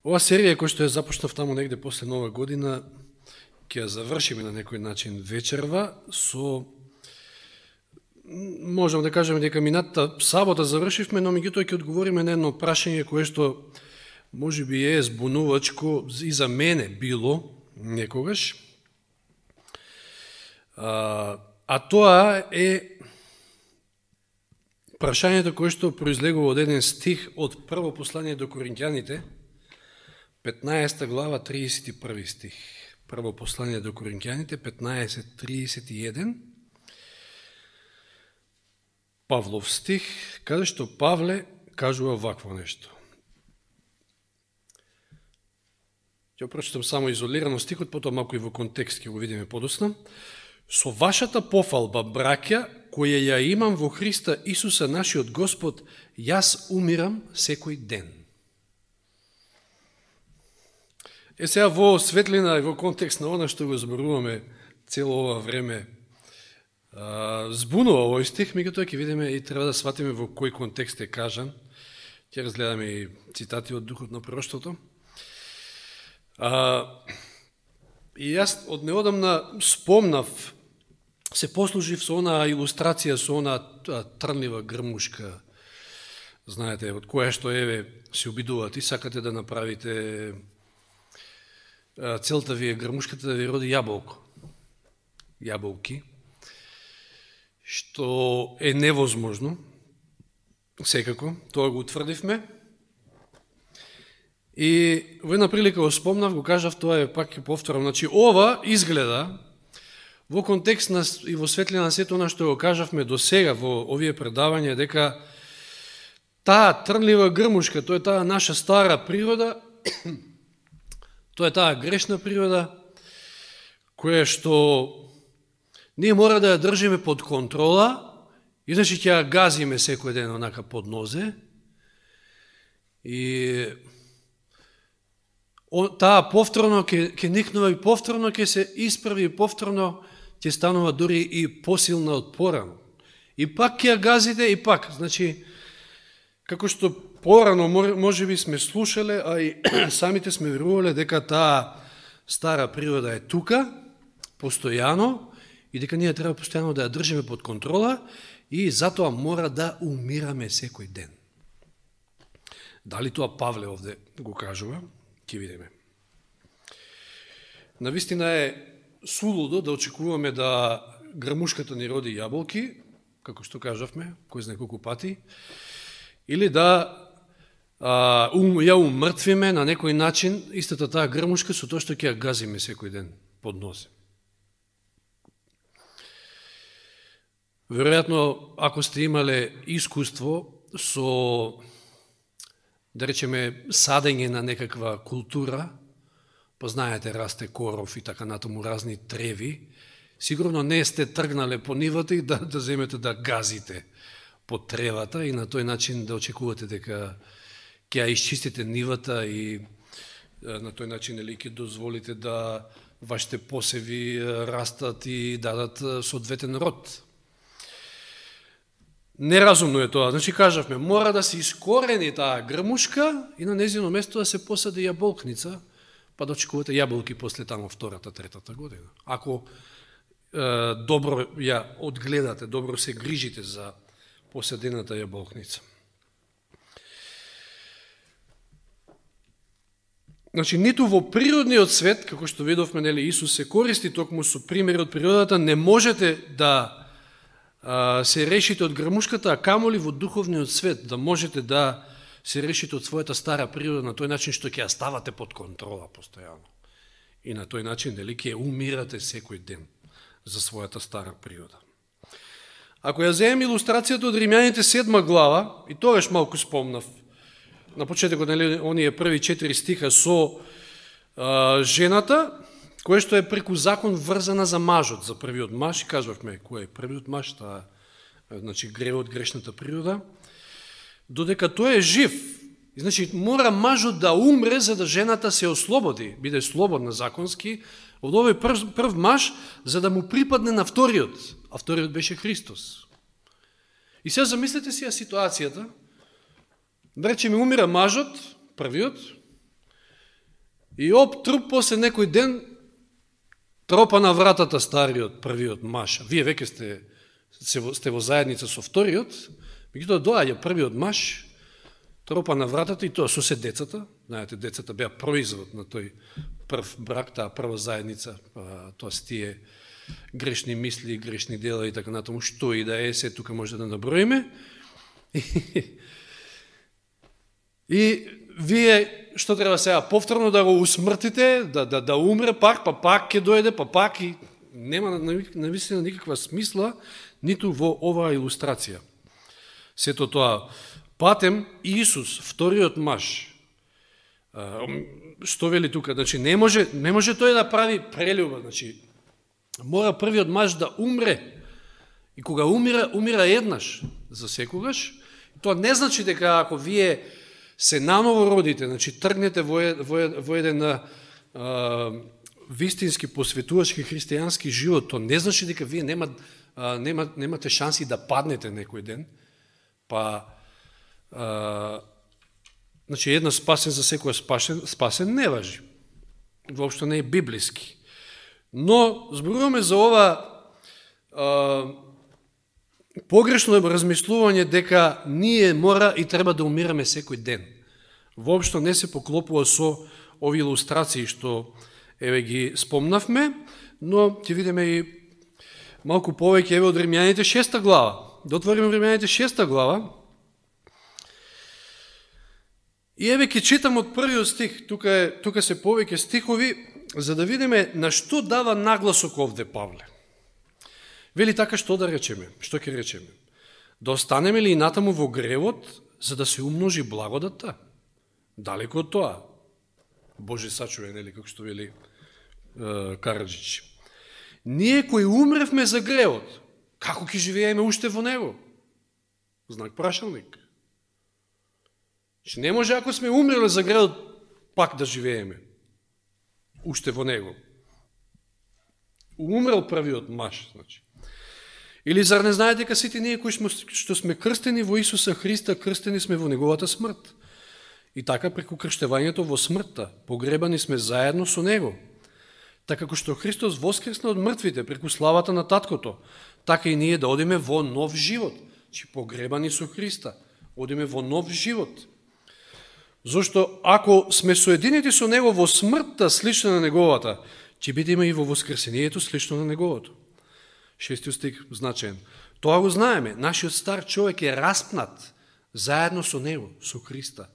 Ова серија која што ја започнав таму негде после Нова година, ќе ја завршиме на некој начин вечерва со, можам да кажеме дека минатата сабота завршивме, но меѓутоа ќе одговориме на едно прашање кое што можеби е збунувачко и за мене било некогаш. А тоа е прашањето кое што произлегува од еден стих од прво послание до Коринќаните, 15 глава, 31 стих. Прво послание до Коринќаните, 15:31. Павлов стих, каде што Павле кажува вакво нешто. Ќе прочитам само изолирано стихот, потоа малку и во контекст ќе го видиме подоцна. Со вашата пофалба, браќа, која ја имам во Христа Исуса нашиот Господ, јас умирам секој ден. Сега во светлина и во контекст на она што го зборуваме цело ова време, збунува овој стих, меѓутоа ќе видиме и треба да сватиме во кој контекст е кажан. Ќе разгледаме и цитати од Духот на пророштвото. И јас од неодамна спомнав, се послужив со она илустрација, со она трнлива грмушка, знаете, од која што еве се обидувате и сакате да направите, целта ви е грмушката да ви роди јаболки, што е невозможно, секако, тоа го утврдивме. И во една прилика го спомнав, го кажав, тоа е пак ќе повторам, значи ова изгледа во контекст на, и во светлина на сето она што го кажавме до сега во овие предавања, дека таа трнлива грмушка, тоа е таа наша стара природа, тоа е таа грешна природа, која што ние мора да ја држиме под контрола, и значи ќе ја газиме секој ден онака под нозе, и таа повторно ќе никнува и повторно ќе се исправи и повторно ќе станува дури и посилна од порано. И пак ќе ја газите и пак, значи, како што порано може би сме слушале, а и самите сме верувале дека таа стара природа е тука, постојано, и дека ние треба постојано да ја држиме под контрола и затоа мора да умираме секој ден. Дали тоа Павле овде го кажува? Ќе видиме. Навистина е сулудо да очекуваме да грмушката ни роди јаболки, како што кажавме, кој знае колку пати, или да ја умртвиме на некој начин истата таа грмушка со тоа што ќе ја газиме секој ден под нозе. Веројатно, ако сте имале искуство со, да речеме, садење на некаква култура, познаете, расте коров и така натаму разни треви, сигурно не сте тргнале по нивата и да земете да газите под тревата и на тој начин да очекувате дека ќе ја исчистите нивата и на тој начин ќе дозволите да вашите посеви растат и дадат соодветен род. Неразумно е тоа. Значи, кажавме, мора да се искорени таа грмушка и на незино место да се посади јаболкница, па да очекувате јаболки после тамо втората, третата година. Ако добро ја одгледате, добро се грижите за посадената јаболкница. Значи, ниту во природниот свет, како што видовме, нели, Исус се користи токму со примери од природата, не можете да се решите од грмушката, а камоли во духовниот свет, да можете да се решите од својата стара природа на тој начин што ќе ја ставате под контрола постојано. И на тој начин, дали, ќе умирате секој ден за својата стара природа. Ако ја земем илустрацијата од Римјаните 7 глава, и тогаш малку спомнав, на почетокот, нели, оние први 4 стиха со жената, кој што е преку закон врзана за мажот, за првиот маж, кажавме кој е првиот маж, таа, значи, гревот, грешната природа, додека тој е жив. И, значи, мора мажот да умре за да жената се ослободи, биде слободна законски, од овој прв маж, за да му припадне на вториот, а вториот беше Христос. И сега замислете си ситуацијата, да речеме умира мажот, првиот, И труп после некој ден тропа на вратата стариот, првиот маж. Вие веќе сте во заедница со вториот, меѓутоа доаѓа првиот маж, тропа на вратата и тоа со се децата. Знаете, децата беа производ на тој прв брак, таа прва заедница, тоа се тие грешни мисли, грешни дела и така натаму, што и да е, се тука може да наброиме. И вие што треба сега повторно да го усмртите, да умре пак, па пак ќе дојде, па пак и нема навистина никаква смисла ниту во оваа илустрација. Сето тоа патем Исус, вториот маж, што вели тука, значи не може тој да прави прелюба, значи мора првиот маж да умре. И кога умира еднаш за секогаш, тоа не значи дека ако вие се наново родите, значи тргнете во еден вистински посветувачки христијански живот, тоа не значи дека вие немате шанси да паднете некој ден, па значи една спасен за секој спасен не важи. Воопшто не е библиски. Но зборуваме за ова погрешно размислување дека ние мора и треба да умираме секој ден. Воопшто не се поклопува со ови илустрации што еве ги спомнавме, но ќе видиме и малку повеќе еве од Римјаните 6 глава. Да отвориме Римјаните 6 глава. И еве ќе читам од првиот стих, тука се повеќе стихови, за да видиме на што дава нагласок овде Павле. Вели така, што да речеме? Што ќе речеме? Да останеме ли и натаму во гревот, за да се умножи благодата? Далеко од тоа. Боже сачуве, нели, како што вели Караджич. Ние кои умревме за гревот, како ќе живееме уште во него? Знак прашалник. Не може ако сме умрели за гревот, пак да живееме уште во него. Умрел првиот маж, значи. Или зар не знаете дека сите ние кои што сме крстени во Исуса Христа, крстени сме во неговата смрт. И така преку крштевањето во смртта, погребани сме заедно со него. Така како што Христос воскресна од мртвите преку славата на Таткото, така и ние да одиме во нов живот. Чи погребани со Христа, одиме во нов живот. Зошто ако сме соединети со него во смртта слична на неговата, ќе бидеме и во воскресението слично на неговото. 6 стих значаен. Тоа го знаеме, нашиот стар човек е распнат заедно со него, со Христа,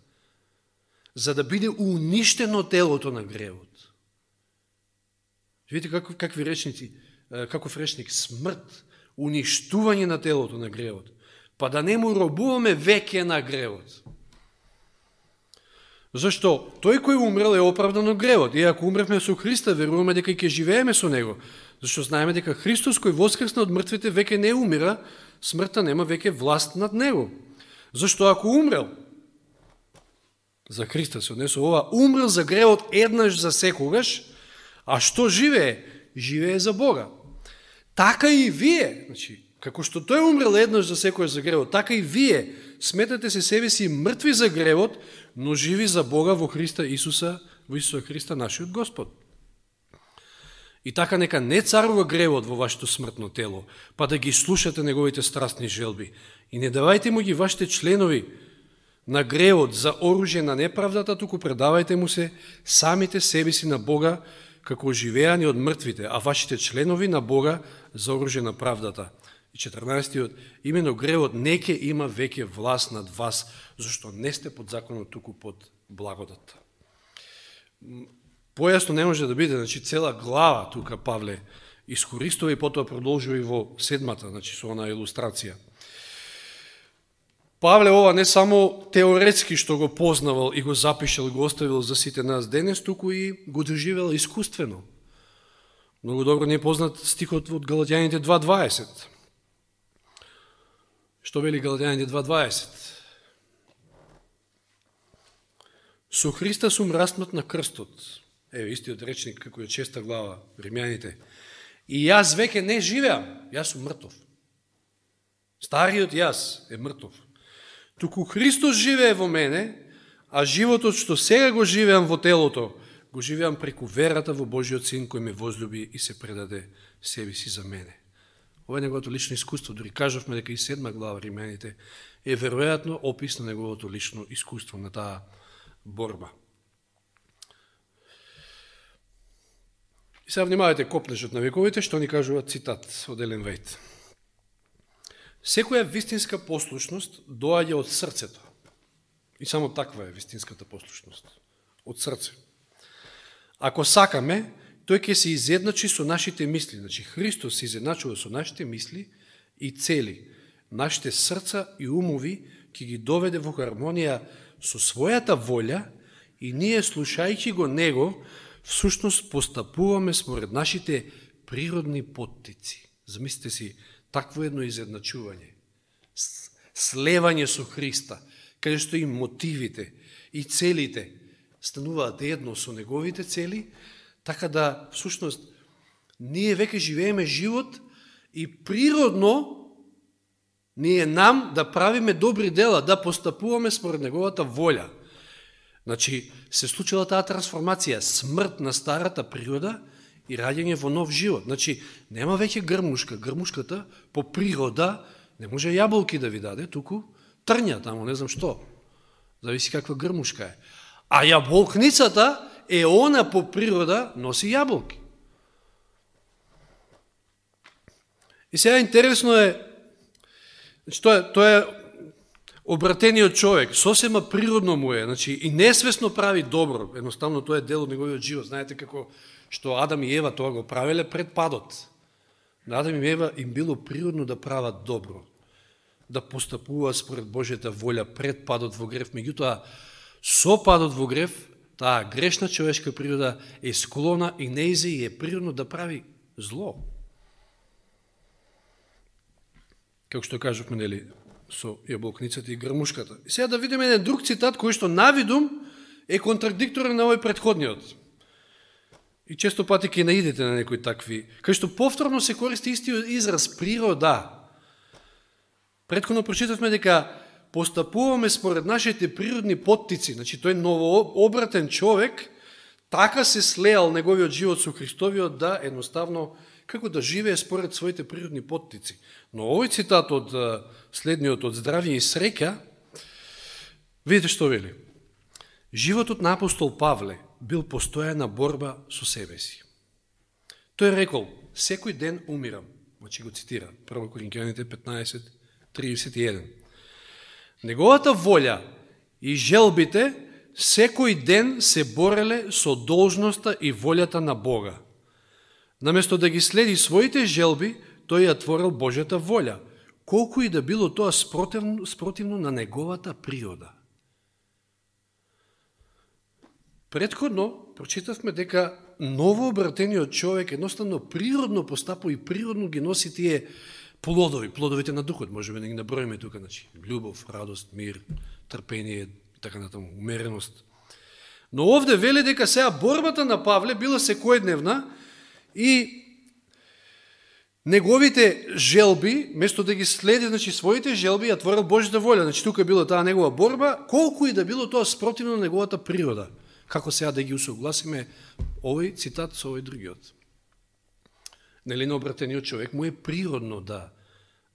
за да биде уништено телото на гревот. Видите каков речник смрт, уништување на телото на гревот, па да не му робуваме веќе на гревот. Зашто тој кој умрел е оправдан од гревот, и ако умревме со Христа, веруваме дека ќе живееме со него. Зашто знаеме дека Христос кој воскресна од мртвите веќе не умира, смртта нема веќе власт над него. Зашто ако умрел, за Христа се однесува ова, умрел за гревот еднаш за секогаш, а што живее? Живее за Бога. Така и вие, значи, како што тој умрел еднаш за секогаш за гревот, така и вие сметате се себе си мртви за гревот, но живи за Бога во Исуса Христа, нашиот Господ. И така нека не царува гревот во вашето смртно тело, па да ги слушате неговите страстни желби. И не давајте му ги вашите членови на гревот за оружје на неправдата, туку предавајте му се самите себе си на Бога, како живеани од мртвите, а вашите членови на Бога за оружје на правдата. И 14-тиот, имено гревот неќе има веќе власт над вас, зашто не сте под законот, туку под благодата. Појасно не може да биде, значи цела глава тука Павле искористува и потоа продолжува и во 7-та, значи со она илустрација. Павле ова не само теоретски што го познавал и го запишал и го оставил за сите нас денес, туку и го доживел искуствено. Многу добро не е познат стихот од Галатјаните 2.20. Што вели Галатјаните 2.20? Со Христа сум распнат на крстот. Еве истиот речник како е 6 глава Римјаните. И јас веќе не живеам, јас сум мртов. Стариот јас е мртов. Туку Христос живее во мене, а животот што сега го живеам во телото, го живеам преку верата во Божиот Син кој ме возлюби и се предаде себе си за мене. Ова е неговото лично искуство. Дори кажавме дека и 7 глава Римените е веројатно опис на неговото лично искуство на таа борба. И сега внимавате копнежот на вековите, што ни кажува цитат од Елен Вајт. Секоја вистинска послушност доаѓа од срцето. И само таква е вистинската послушност. Од срце. Ако сакаме, тој ќе се изедначи со нашите мисли. Значи, Христос се изедначува со нашите мисли и цели. Нашите срца и умови ќе ги доведе во хармонија со својата волја и ние, слушајќи го Него, всушност постапуваме според нашите природни поттици. Замислите си, такво едно изедначување, слевање со Христа, каде што и мотивите, и целите стануваат едно со неговите цели, така да, всушност, ние веќе живееме живот и природно ние нам да правиме добри дела, да постапуваме според неговата волја. Значи, се случила таа трансформација, смрт на старата природа и раѓање во нов живот. Значи, нема веќе грмушка. Грмушката по природа не може јаболки да ви даде, туку трња тамо, не знам што. Зависи каква грмушка е. А јаболкницата е она по природа носи јаболки. И сега интересно е, значи, тоа е обратениот човек, сосема природно му е, значи, и несвесно прави добро, едноставно тоа е дел од неговиот живот. Знаете како што Адам и Ева тоа го правеле пред падот. На Адам и Ева им било природно да прават добро, да постапуваат според Божјата волја пред падот во грев. Меѓутоа, со падот во грев, таа грешна човечка природа е склона и неизе и е природно да прави зло. Како што кажувме, нели, со јаболкницата и грмушката. И сега да видиме еден друг цитат кој што навидум е контрадикторен на овој претходниот. И често пати ќе наидете на некои такви, кај што повторно се користи истиот израз природа. Претходно прочитавме дека постапуваме според нашите природни поттици, значи тој новообратен човек така се слеал неговиот живот со Христовиот да едноставно како да живее според своите природни поттици. Но овој цитат од следниот од здравје и среќа, видите што вели. Животот на апостол Павле бил постојана борба со себе си. Тој рекол, секој ден умирам. Значи го цитира, 1 Коринќаните 15:31. Неговата волја и желбите секој ден се бореле со должноста и волјата на Бога. Наместо да ги следи своите желби, тој ја творил Божјата волја, колку и да било тоа спротивно на неговата природа. Предходно прочитавме дека новообратениот човек едноставно природно постапува и природно ги носи тие плодови, плодовите на духот, можеме да ги наброиме тука, значи љубов, радост, мир, трпение, така натаму, умереност. Но овде вели дека сега борбата на Павле била секојдневна и неговите желби, место да ги следи, значи своите желби, ја творил Божјата волја. Значи тука била таа негова борба, колку и да било тоа спротивно на неговата природа. Како сега да ги усогласиме овој цитат со овој другиот? Нели на обратениот човек му е природно да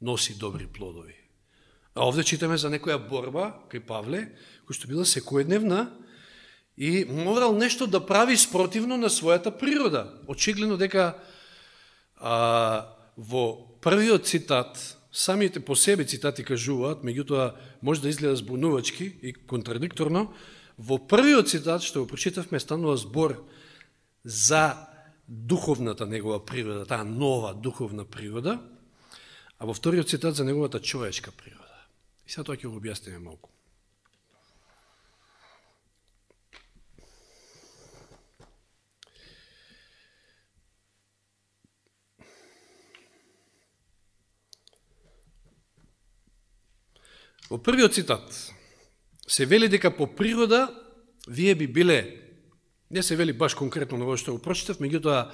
носи добри плодови. А овде читаме за некоја борба кај Павле, која што била секојдневна и морал нешто да прави спротивно на својата природа. Очигледно дека во првиот цитат, самите по себе цитати кажуваат, меѓутоа може да изгледа збунувачки и контрадикторно, во првиот цитат што го прочитавме станува збор за духовната негова природа, таа нова духовна природа, а во вториот цитат за неговата човечка природа. И сега тоа ќе го објасниме малку. Во првиот цитат се вели дека по природа вие би биле, не се вели баш конкретно на ovo што го прочитав, меѓутоа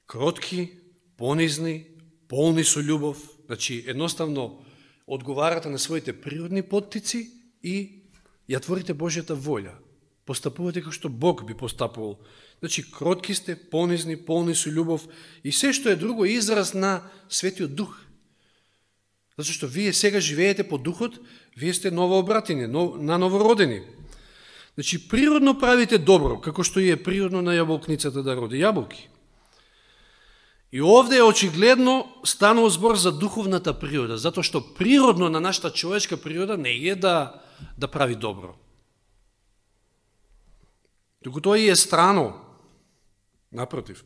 кротки, понизни, полни со љубов, значи едноставно одговарате на своите природни поттици и ја творите Божјата волја. Постапувате како што Бог би постапувал. Значи, кротки сте, понизни, полни со љубов и се што е друго израз на Светиот Дух. Зато што вие сега живеете по Духот, вие сте новообратени, новородени. Значи, природно правите добро, како што и е природно на јаболкницата да роди јаболки. И овде е очигледно станува збор за духовната природа, затоа што природно на нашата човечка природа не е да прави добро. Туку тоа и е страно. Напротив.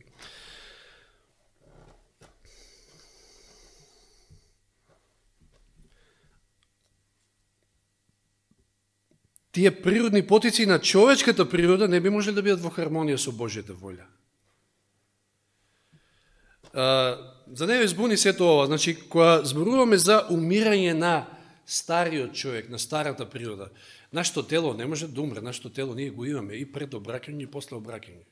Тие природни потици на човечката природа не би можели да бидат во хармонија со Божјата волја. За не збуни сето ова, значи, кога зборуваме за умирање на стариот човек, на старата природа, нашето тело не може да умре, нашето тело ние го имаме и пред обраќање и после обраќање.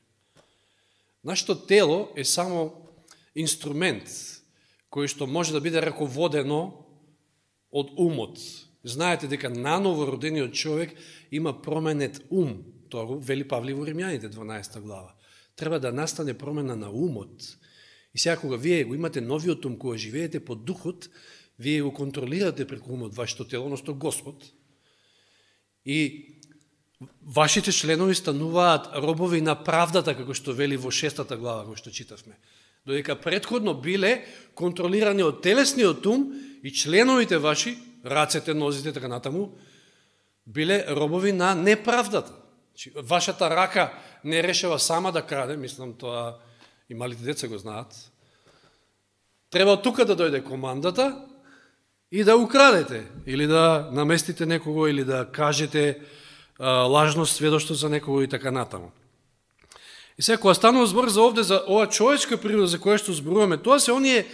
Нашето тело е само инструмент кој што може да биде раководено од умот. Знаете дека наново родениот човек има променет ум. Тоа го вели Павле во Римјаните 12 глава. Треба да настане промена на умот. И сега кога вие го имате новиот ум, кога живеете под духот, вие го контролирате преку умот вашето тело, односно Господ. И вашите членови стануваат робови на правдата, како што вели во 6 глава, кој што читавме. Додека претходно биле контролирани од телесниот ум и членовите ваши, рацете, нозите, така натаму, биле робови на неправдата. Вашата рака не решава сама да краде, мислам тоа и малите деца го знаат. Треба од тука да дојде командата и да украдете, или да наместите некого, или да кажете лажно сведоштво за некого и така натаму. И сега, кога станува збор за овде, за ова човечка природа за која што зборуваме, тоа се оние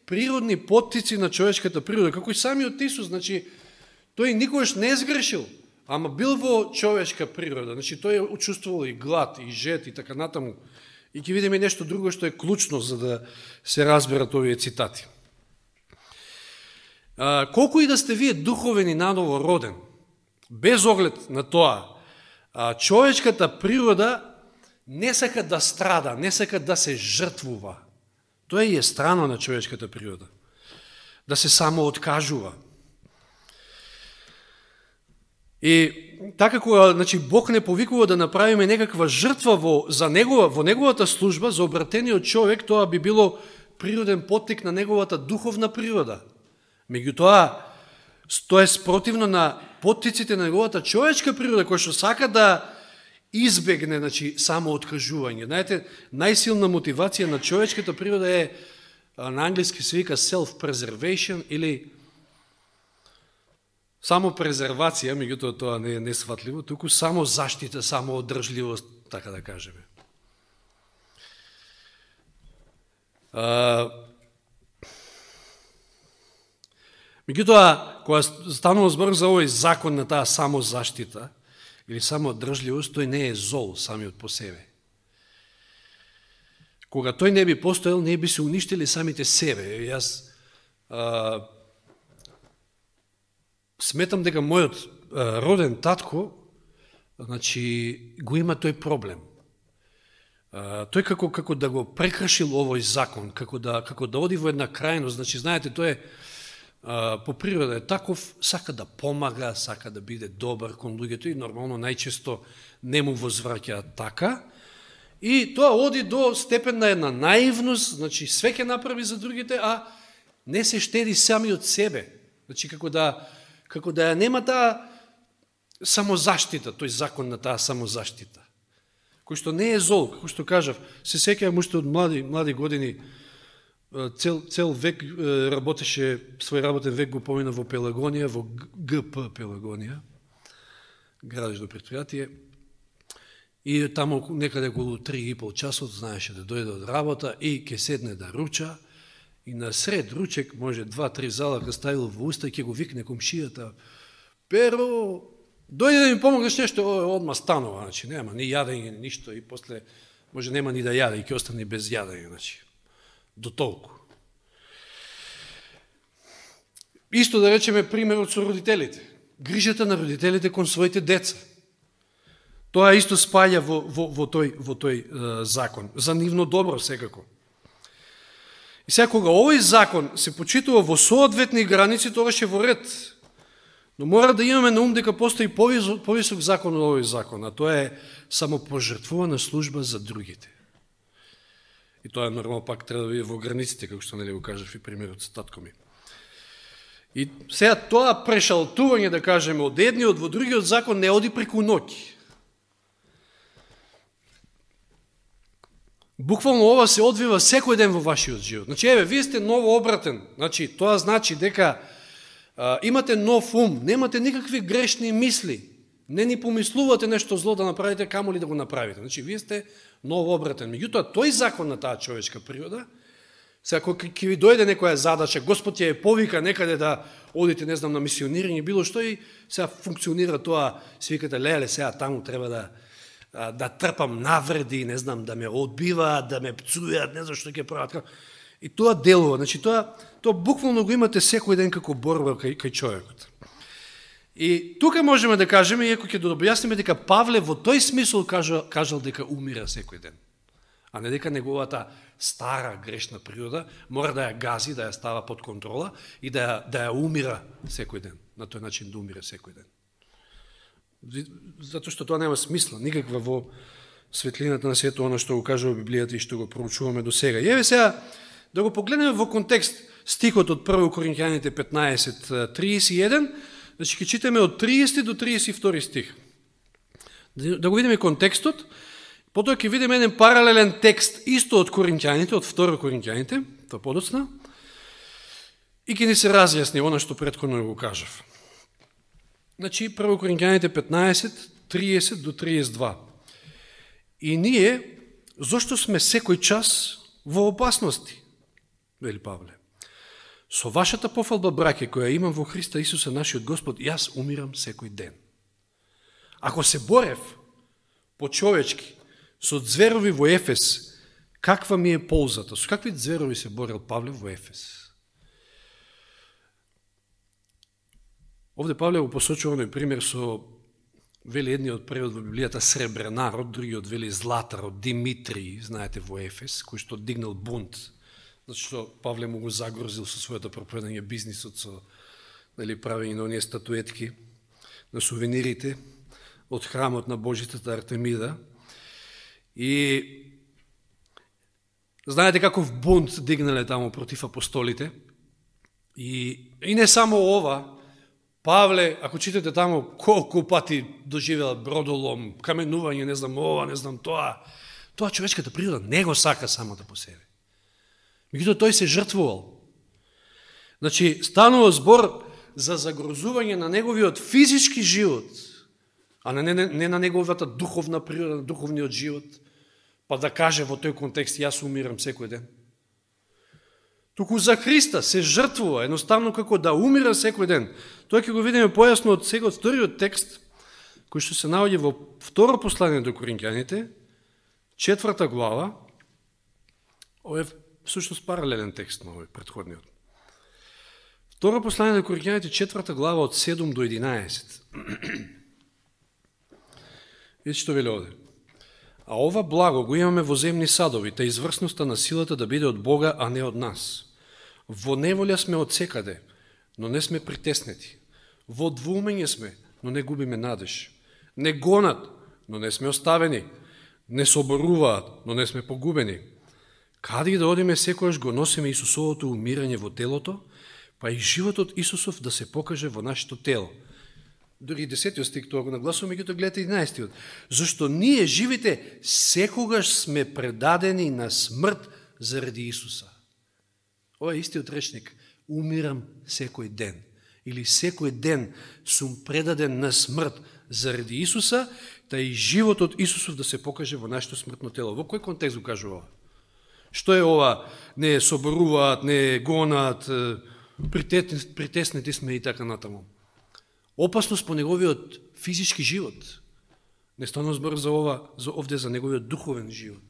природни поттици на човечката природа, како и самиот Исус, значи, тој никогаш не сгрешил, ама бил во човечка природа, значи, тој учувствувал и глад, и жет, и така натаму. И ќе видиме нешто друго што е клучно за да се разберат овие цитати. Колку и да сте вие духовен и наново роден, без оглед на тоа, човечката природа не сака да страда, не сака да се жртвува. Тоа е страно на човечката природа. Да се само откажува. И така кога, значи, Бог не повикува да направиме некаква жртва во неговата служба за обратениот човек, тоа би било природен поттик на неговата духовна природа. Меѓутоа, тоа е спротивно на поттиците на неговата човечка природа, која што сака да избегне, значи, само откажување. Знаете, најсилна мотивација на човечката природа е, на англиски се вика self-preservation или само презервација, меѓутоа тоа не е несватливо, туку само заштита, само одржливост, така да кажеме. Меѓутоа, кога станува збор за овој закон на таа самозаштита или самоодржливост, тој не е зол самиот по себе. Кога тој не би постоел, не би се уништили самите себе. Јас сметам дека мојот роден татко, значи, го има тој проблем. Тој како да го прекршил овој закон, како да оди во една крајност, значи, знаете, тој е по природа е таков, сака да помага, сака да биде добар кон луѓето и нормално најчесто не му возвраќаат така. И тоа оди до степен на една наивност, значи све ќе направи за другите, а не се штеди сами од себе. Значи како да ја нема таа самозаштита, тој закон на таа самозаштита, кој што не е зол, како што кажав, се сеќавам уште од млади години, цел век работеше, свој работен век го помина во Пелагонија, во ГП Пелагонија, градежно предпријатие, и таму некаде околу 3,5 часот знаеше да дојде од работа и ќе седне да руча, и на сред ручек, може 2-3 залака ставил во уста и ќе го викне комшијата: Перо, дојде да ми помогнеш нешто, одма станува, значи нема ни јадење, ни ништо, и после може нема ни да јаде и ќе остане без јадење, значи до толку. Исто да речеме примерот со родителите. Грижата на родителите кон своите деца. Тоа исто спаѓа во тој закон, за нивно добро секако. И сега кога овој закон се почитува во соодветни граници, тогаш е во ред. Но мора да имаме на ум дека постои повисок закон од овој закон, а тоа е самопожртвувана служба за другите. И тоа нормално пак треба да биде во границите, како што нели го кажав и примерот со татко ми. И сега тоа прешалтување, да кажеме, од едниот во другиот закон не оди преку ноќ. Буквално ова се одвива секој ден во вашиот живот. Значи, еве, вие сте новообратен. Значи, тоа значи дека имате нов ум, немате никакви грешни мисли, не ни помислувате нешто зло да направите, камо ли да го направите. Значи, вие сте новообратен. Меѓутоа, тој закон на таа човечка природа, сега кога ќе ви дојде некоја задача, Господ ја повика некаде да одите, не знам, на мисионирање, било што и сега функционира тоа, си викате, леле, сега таму треба да трпам навреди, не знам, да ме одбиваат, да ме пцујат, не знам што ќе прават. И тоа делува, значи тоа буквално го имате секој ден како борба кај човекот. И тука можеме да кажеме, иако ќе објасниме дека Павле во тој смисол кажал дека умира секој ден, а не дека неговата стара грешна природа мора да ја гази, да ја става под контрола и да ја умира секој ден, на тој начин да умира секој ден. Затоа што тоа нема смисла, никаква во светлината на сето оно што го кажува Библијата и што го проучуваме до сега. И еве сега да го погледнеме во контекст стихот од 1 Коринќаните 15:31, значи ќе читаме од 30 до 32 стих. Да го видиме контекстот, потоа ќе видиме еден паралелен текст исто од Коринќаните, од 2 Коринќаните, тоа подоцна, и ќе ни се разјасни оно што претходно го кажав. Значи, 1 Коринќаните 15:30 до 32. И ние, зошто сме секој час во опасности, вели Павле. Со вашата пофалба, браке, која имам во Христа Исуса, нашиот Господ, јас умирам секој ден. Ако се борев по-човечки со зверови во Ефес, каква ми е ползата? Со какви зверови се борел Павле во Ефес? Овде Павле го посочува оној пример со, вели едниот превод во Библијата, сребренарот, другиот вели златарот, Димитрий, знаете, во Ефес, кој што дигнал бунт, зашто Павле му го загрозил со својата проповедање бизнисот, со правење на оние статуетки на сувенирите од храмот на Божитата Артемида. И знаете каков бунт дигнале таму против апостолите. И не само ова, Павле, ако читате таму, колку пати доживел бродолом, каменување, не знам ова, не знам тоа. Тоа човечката природа не го сака самата по себе. Меѓутоа тој се жртвувал. Значи, станува збор за загрозување на неговиот физички живот, а не на неговата духовна природа, духовниот живот, па да каже во тој контекст, јас умирам секој ден. Туку за Христа се жртвува, едноставно како да умира секој ден. Тоа ќе го видиме појасно од сега, од вториот текст, кој што се наоѓа во второ послание до Коринќаните, 4 глава, ова е всушност паралелен текст на овој претходниот. Второ послание до Коринќаните, 4 глава, од 7 до 11. Видите што вели овде. А ова благо го имаме во земни садови, та изврсноста на силата да биде од Бога, а не од нас. Во неволја сме од секаде, но не сме притеснети. Во двумење сме, но не губиме надеж. Не гонат, но не сме оставени. Не соборуваат, но не сме погубени. Каде да одиме, секојаш го носиме Исусовото умирање во телото, па и животот Исусов да се покаже во нашето тело. Дори 10 стих тоа го нагласуваме, меѓутоа гледате 11. Зашто ние живите секогаш сме предадени на смрт заради Исуса. Ова е истиот речник. Умирам секој ден. Или секој ден сум предаден на смрт заради Исуса, та и животот Исусов да се покаже во нашето смртно тело. Во кој контекст го кажува ова? Што е ова? Не соборуваат, не гонат, притеснети сме и така натаму. Опасност по неговиот физички живот. Не станува збор за ова, овде за неговиот духовен живот.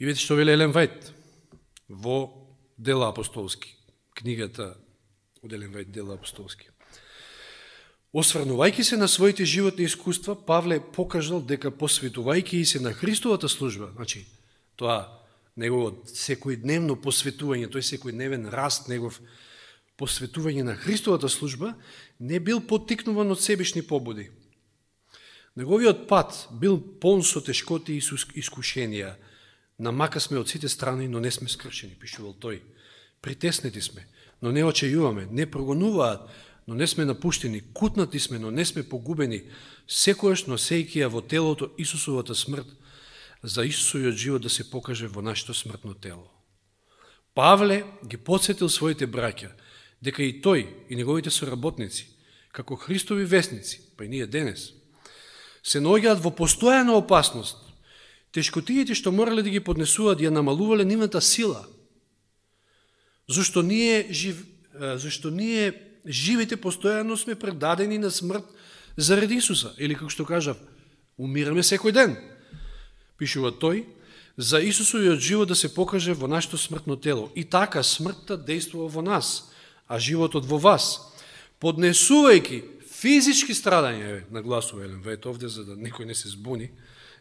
И видите што вели Елен Вајт во Дела апостолски, книгата од Елен Вајт Дела апостолски. Осврнувајќи се на своите животни искуства, Павле покажал дека посветувајќи се на Христовата служба, значи, тоа негово секојдневно посветување, тој секојдневен раст негов посветување на Христовата служба, не бил поттикнуван од себешни побуди. Неговиот пат бил полн со тешкоти и искушенија. Намака сме од сите страни, но не сме скршени, пишувал тој. Притеснети сме, но не очајуваме, не прогонуваат, но не сме напуштени, кутнати сме, но не сме погубени, секојаш носејќи ја во телото Исусовата смрт, за Исусовиот живот да се покаже во нашето смртно тело. Павле ги подсетил своите браќа, дека и тој, и неговите соработници, како Христови весници, па и ние денес, се наоѓаат во постојана опасност. Тешкотиите што морале да ги поднесуваат ја намалувале нивната сила. Зашто ние живите постојано сме предадени на смрт заради Исуса. Или како што кажав, умираме секој ден. Пишува тој, за Исусовиот живот да се покаже во нашето смртно тело. И така смртта действува во нас, а животот во вас. Поднесувајќи физички страдања, нагласува Елен Вајт овде, за да некој не се збуни,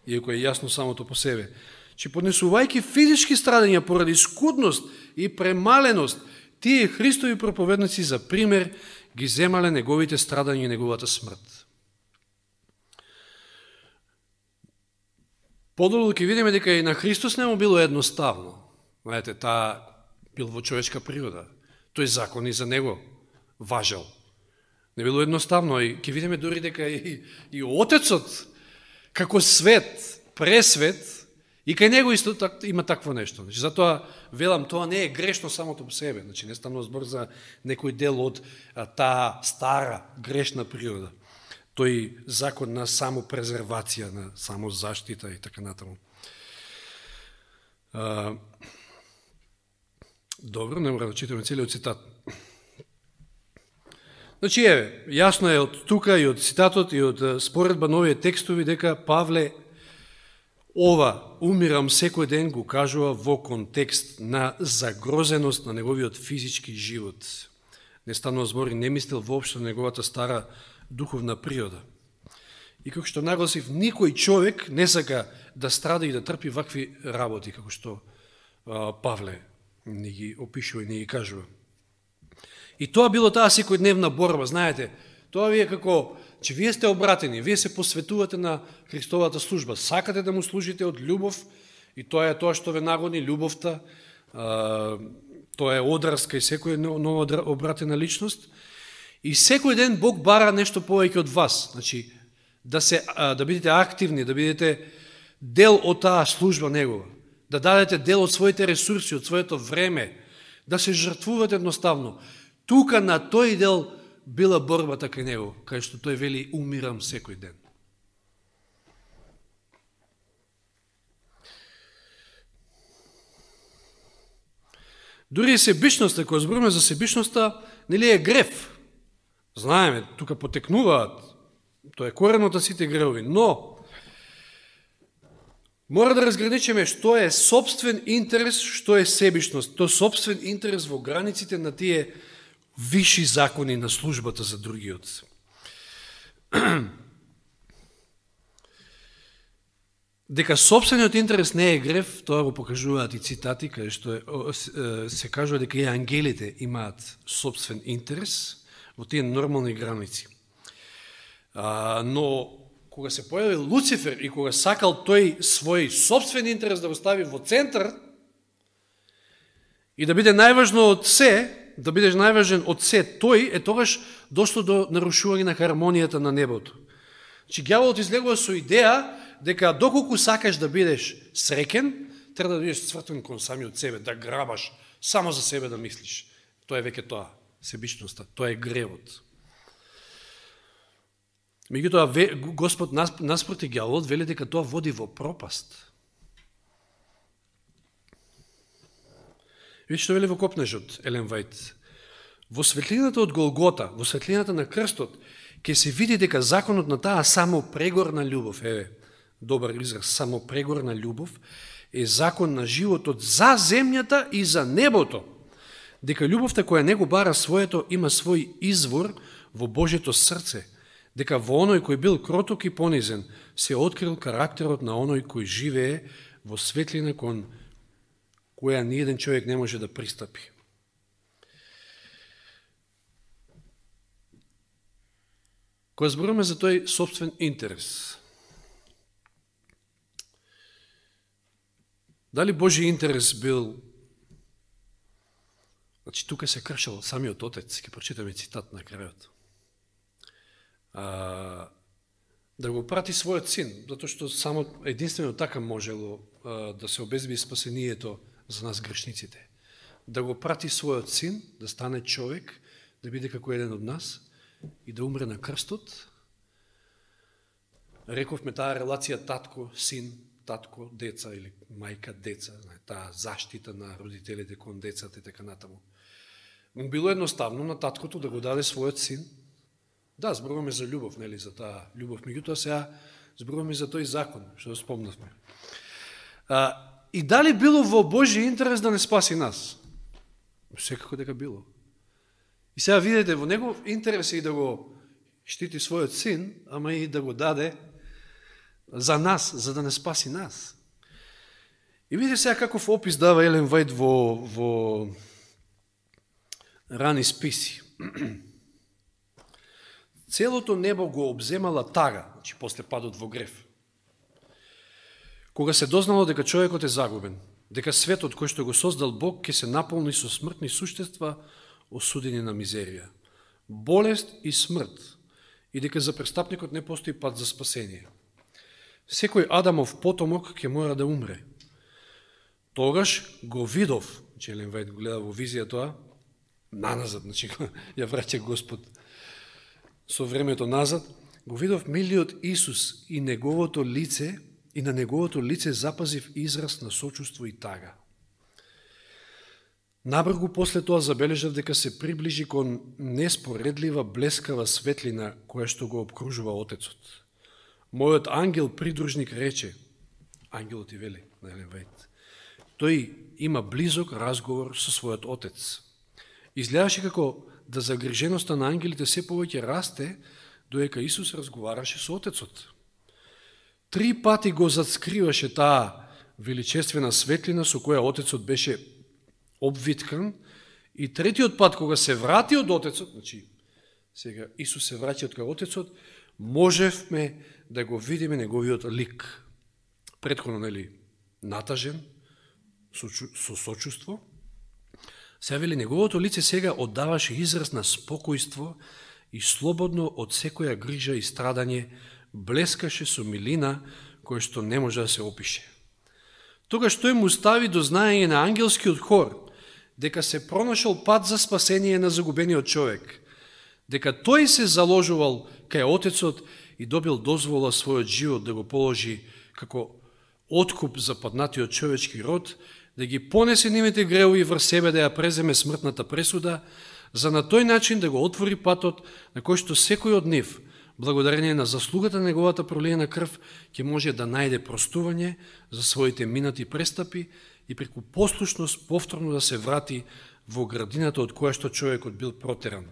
иако е јасно самото по себе, че поднесувајќи физички страдања поради скудност и премаленост, тие Христови проповедници за пример ги земале неговите страдања и неговата смрт. Подолу ќе видиме дека и на Христос не му било едноставно. Знаете, таа бил во човечка природа. Тој закон и за него важел. Не било едноставно. И ќе видиме дори дека и Отецот, како свет, пресвет, и кај него исто има такво нешто. Значи, затоа велам, тоа не е грешно самото по себе. Значи, не станува збор за некој дел од таа стара, грешна природа. Тој закон на самопрезервација, на самозаштита и така натаму. Добро, не мора да читаме целиот цитат. Значи, јасно е од тука и од цитатот и од споредба на овие текстови дека Павле ова умирам секој ден го кажува во контекст на загрозеност на неговиот физички живот. Не станува збор и не мислел воопшто на неговата стара духовна природа. И како што нагласив, никој човек не сака да страда и да трпи вакви работи, како што Павле ни ги опишува и ни ги кажува. И тоа било таа секојдневна борба, знаете, тоа ви е како, че вие сте обратени, вие се посветувате на Христовата служба, сакате да му служите од љубов, и тоа е тоа што ве нагони, љубовта, тоа е одраз кај секој нова обратена личност, и секој ден Бог бара нешто повеќе од вас, значи, да бидете активни, да бидете дел од таа служба негова, да дадете дел од своите ресурси, од своето време, да се жртвувате едноставно. Тука на тој дел била борбата кај него, кај што тој вели умирам секој ден. Дури и себичноста, кога збориме за себичноста, нели е грев. Знаеме, тука потекнуваат, тоа е коренот на сите гревови, но мора да разграничиме што е собствен интерес, што е себичност. Тоа собствен интерес во границите на тие виши закони на службата за другиот. Дека собствениот интерес не е грев, тоа го покажуваат и цитати, каде што се кажува дека и ангелите имаат собствен интерес во тие нормални граници. Но кога се појави Луцифер и кога сакал тој свој собствен интерес да го стави во центар и да биде најважно од се, да бидеш најважен од се тој, тогаш дошло до нарушување на хармонијата на небото. Че ѓаволот излегува со идеја дека доколку сакаш да бидеш среќен, треба да бидеш цвртен кон самиот себе, да грабаш, само за себе да мислиш. Тоа е веќе тоа, себичноста, тоа е гревот. Меѓутоа, Господ наспроти ѓаволот вели дека тоа води во пропаст. Видите што вели во Копнежот, Елен Вајт. Во светлината од Голгота, во светлината на крстот, ќе се види дека законот на таа самопрегорна љубов, добар израз, самопрегорна љубов, е закон на животот за земјата и за небото. Дека љубовта која него бара своето има свој извор во Божјето срце, дека во оној кој бил кроток и понизен се открил карактерот на оној кој живее во светлина кон која ниеден човек не може да пристапи. Кога зборуваме за тој собствен интерес, дали Божи интерес бил, значи тука се кршил самиот Отец, ќе прочитаме цитат на крајот, да го прати својот син, затоа што само единствено така можело да се обезби спасението за нас грешниците. Да го прати својот син, да стане човек, да биде како еден од нас и да умре на крстот. Рековме таа релација татко-син, татко-деца или мајка-деца, таа заштита на родителите кон децата и така натаму. Му било едноставно на таткото да го даде својот син. Да, зборуваме за љубов, нели, за таа љубов. Меѓутоа сега зборуваме за тој закон, што спомнавме. И дали било во Божи интерес да не спаси нас? Секако дека било. И сега видите, во негов интерес е и да го штити својот син, ама и да го даде за нас, за да не спаси нас. И видите сега каков опис дава Елен Вајт во рани списи. Целото небо го обземала тага, значи после падот во грев. Кога се дознало дека човекот е загубен, дека светот кој што го создал Бог ќе се наполни со смртни суштества осудени на мизерија, болест и смрт, и дека за престапникот не постои пат за спасение. Секој Адамов потомок ќе мора да умре. Тогаш го видов, че Елен Вајт го гледа во визија тоа, наназад, значи ја враќа Господ со времето назад, го видов милиот Исус и неговото лице, и на неговото лице запазив израз на сочувство и тага. Набргу после тоа забележав дека се приближи кон неспоредлива блескава светлина која што го обкружува Отецот. Мојот ангел придружник рече, ангелот и вели на Елен Вајт, тој има близок разговор со својот Отец. Изгледаше како да загриженоста на ангелите се повеќе расте, доека Исус разговараше со Отецот. 3 пати го зацкриваше таа величествена светлина со која Отецот беше обвиткан, и третиот пат кога се врати од Отецот, значи сега Исус се враќа од кај Отецот, можевме да го видиме неговиот лик. Претходно, нели, натажен, со сочувство. Сега вели, неговото лице сега оддаваше израз на спокојство и слободно од секоја грижа и страдање, блескаше со милина која што не може да се опише. Тогаш тој му стави до знаење на ангелскиот хор дека се пронашол пат за спасение на загубениот човек, дека тој се заложувал кај Отецот и добил дозвола својот живот да го положи како откуп за паднатиот човечки род, да ги понесе нивните греови врз себе, да ја преземе смртната пресуда, за на тој начин да го отвори патот на кој што секој од нив, благодарение на заслугата на неговата пролиена крв, ќе може да најде простување за своите минати престапи и преку послушност повторно да се врати во градината од која што човекот бил протеран.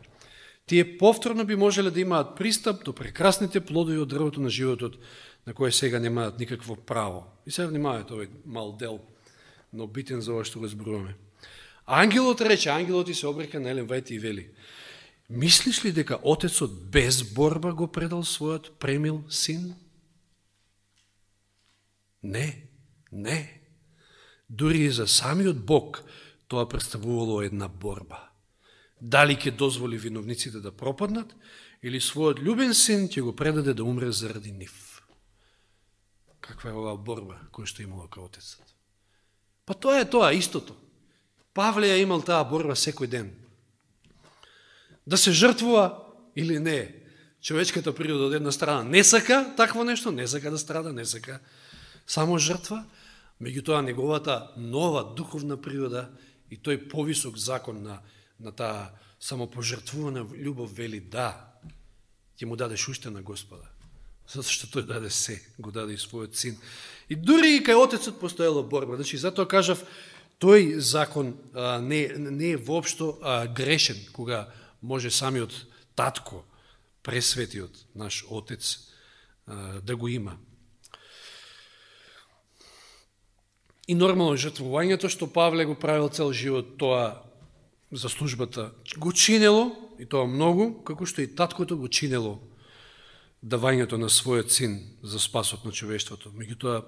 Тие повторно би можеле да имаат пристап до прекрасните плодови од дрвото на животот, на кој сега немаат никакво право. И сега внимавајте овој мал дел, но битен за ова што го зборуваме. Ангелот рече, ангелот и се обрека на Елен Вајт и вели, мислиш ли дека Отецот без борба го предал својот премил син? Не, не. Дури и за самиот Бог тоа представувало една борба. Дали ќе дозволи виновниците да пропаднат, или својот љубен син ќе го предаде да умре заради нив. Каква е оваа борба која што имала кај Отецот? Па тоа е тоа, истото. Павле ја имал таа борба секој ден. Да се жртвува или не. Човечката природа од една страна не сака такво нешто, не сака да страда, не сака само жртва, меѓутоа неговата нова духовна природа и тој повисок закон на таа самопожртвувана љубов вели да, ќе му дадеш уште на Господа, затоа што тој даде се, го даде и својот син. И дури и кај Отецот постоела борба. Значи, затоа кажав, тој закон не е воопшто грешен, кога може самиот татко пресветиот наш Отец да го има. И нормално жртвувањето што Павле го правил цел живот, тоа за службата го чинело, и тоа многу, како што и таткото го чинело давањето на својот син за спасот на човештвото. Меѓутоа,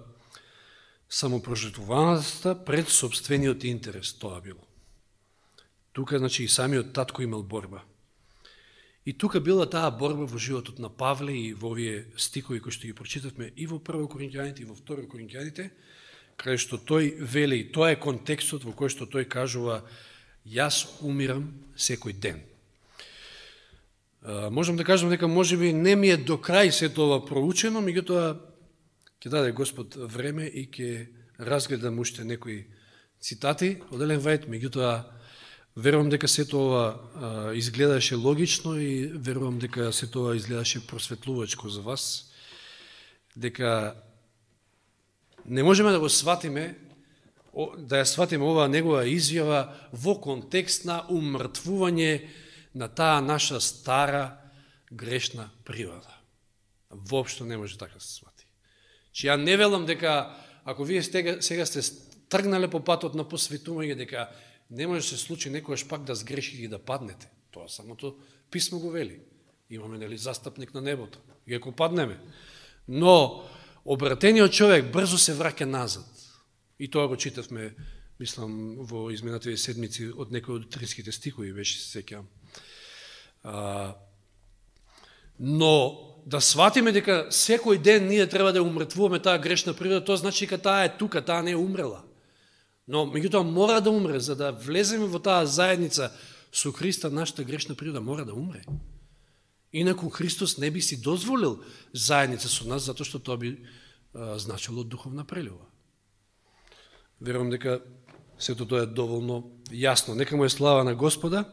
самопрожртвуваноста пред собствениот интерес, тоа било. Тука, значи, и самиот татко имал борба. И тука била таа борба во животот на Павле и во овие стикови кои што ги прочитавме и во 1 Коринќаните и во 2 Коринќаните, кај што тој вели, тоа е контекстот во кој што тој кажува: јас умирам секој ден. Можам да кажам дека можеби не ми е до крај сето ова проучено, меѓутоа ќе даде Господ време и ќе разгледам уште некои цитати од Елен Вајт, меѓутоа верувам дека сето ова изгледаше логично и верувам дека сето ова изгледаше просветлувачко за вас, дека не можеме да го сватиме, да ја сватиме оваа негова изјава во контекст на умртвување на таа наша стара грешна природа. Воопшто не може така да се свати. Че ја не велам дека ако вие сега сте тргнале по патот на посветување, дека не може да се случи некојаш пак да сгрешите и да паднете. Тоа самото писмо го вели. Имаме, нели, застапник на небото. И ако паднеме. Но обратениот човек брзо се враќа назад. И тоа го читавме, мислам, во изминатите седмици од некои од триските стихови, беше се сеќавам. Но да сватиме дека секој ден ние треба да умртвуваме таа грешна природа, тоа значи дека таа е тука, таа не е умрела. Но меѓутоа мора да умре, за да влеземе во таа заедница со Христа, нашата грешна природа мора да умре. Инаку Христос не би си дозволил заедница со нас, затоа што тоа би значило духовна прелюба. Верувам дека сето тоа е доволно јасно. Нека му е слава на Господа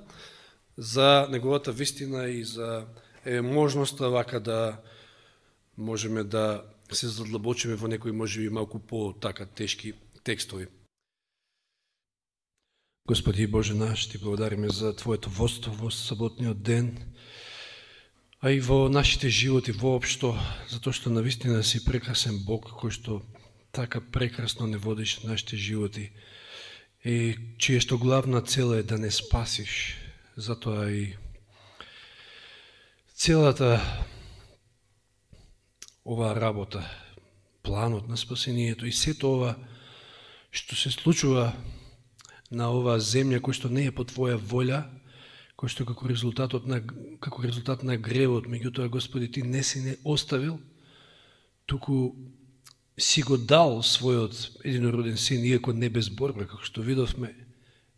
за неговата вистина и за можноста вака да можеме да се задлабочиме во некои можеби малку по-така тешки текстови. Господи Боже наш, Ти благодариме за Твоето водство во саботниот ден, а и во нашите животи воопшто, затоа што навистина си прекрасен Бог, кој што така прекрасно не водиш нашите животи и чие што главна цел е да не спасиш. Затоа и целата оваа работа, планот на спасението и сето ова што се случува на оваа земја, кој што не е по Твоја волја, кој што како резултат на гревот, меѓутоа, Господи, Ти не си не оставил, туку си го дал својот единороден син, иако не без борба, како што видовме,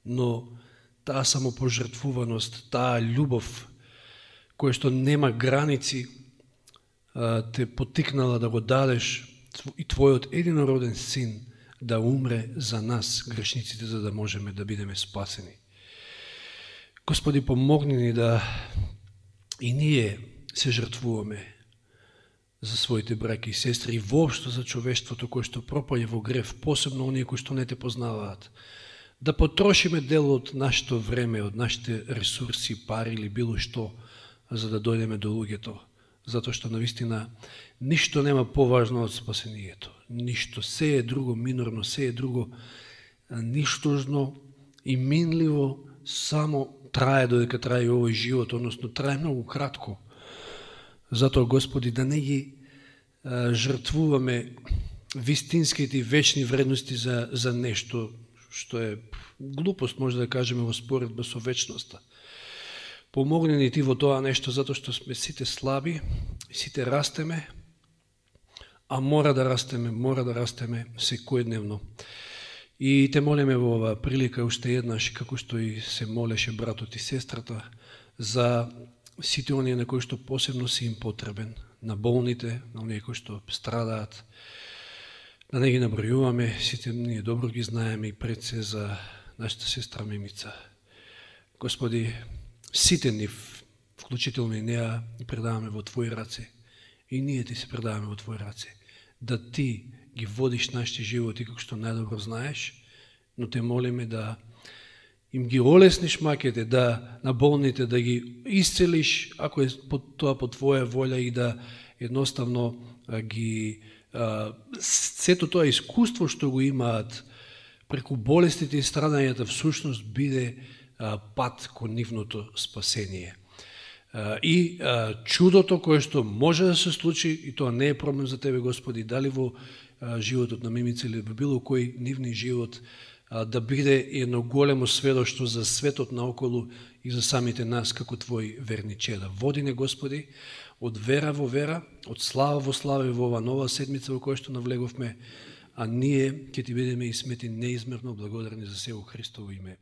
но таа самопожртвуваност, таа љубов, која што нема граници, те потикнала да го дадеш и Твојот единороден син да умре за нас, грешниците, за да можеме да бидеме спасени. Господи, помогни ни да и ние се жртвуваме за своите браќи и сестри и воопшто за човештвото кое што пропаѓа во грев, посебно оние кои што не Те познаваат. Да потрошиме дел од нашето време, од нашите ресурси, пари или било што, за да дојдеме до луѓето. Затоа што навистина ништо нема поважно од спасението. Ништо, се е друго минорно, се е друго ништожно и минливо, само трае додека трае овој живот, односно трае многу кратко. Затоа, Господи, да не ги жртвуваме вистинските и вечни вредности за нешто што е глупост, може да кажеме, во споредба со вечноста. Помогни ни Ти во тоа нешто, затоа што сме сите слаби, сите растеме, а мора да растеме секојдневно. И Те молиме во оваа прилика уште еднаш, како што и се молеше братот и сестрата, за сите оние на кои што посебно си им потребен, на болните, на оние кои што страдаат, да не ги набројуваме, сите ние добро ги знаеме и пред се за нашата сестра Мимица. Господи, сите нив, вклучително и неа, ги предаваме во Твои раце и ние Ти се предаваме во Твои раце, да Ти ги водиш нашите животи како што најдобро знаеш, но Те молиме да им ги олесниш макете, да на болните, да ги исцелиш, ако е тоа по Твоја волја, и да едноставно ги сето тоа искуство што го имаат преку болестите и страдањата всушност биде пат кон нивното спасение. И чудото кое што може да се случи, и тоа не е проблем за Тебе, Господи, дали во животот на Мимица или во било кој нивни живот, да биде едно големо сведоштво за светот наоколу и за самите нас како Твои верни чеда. Води не, Господи, од вера во вера, од слава во слава и во ова нова седмица во која што навлеговме, а ние ќе Ти бидеме и смети неизмерно благодарни за се во Христово име.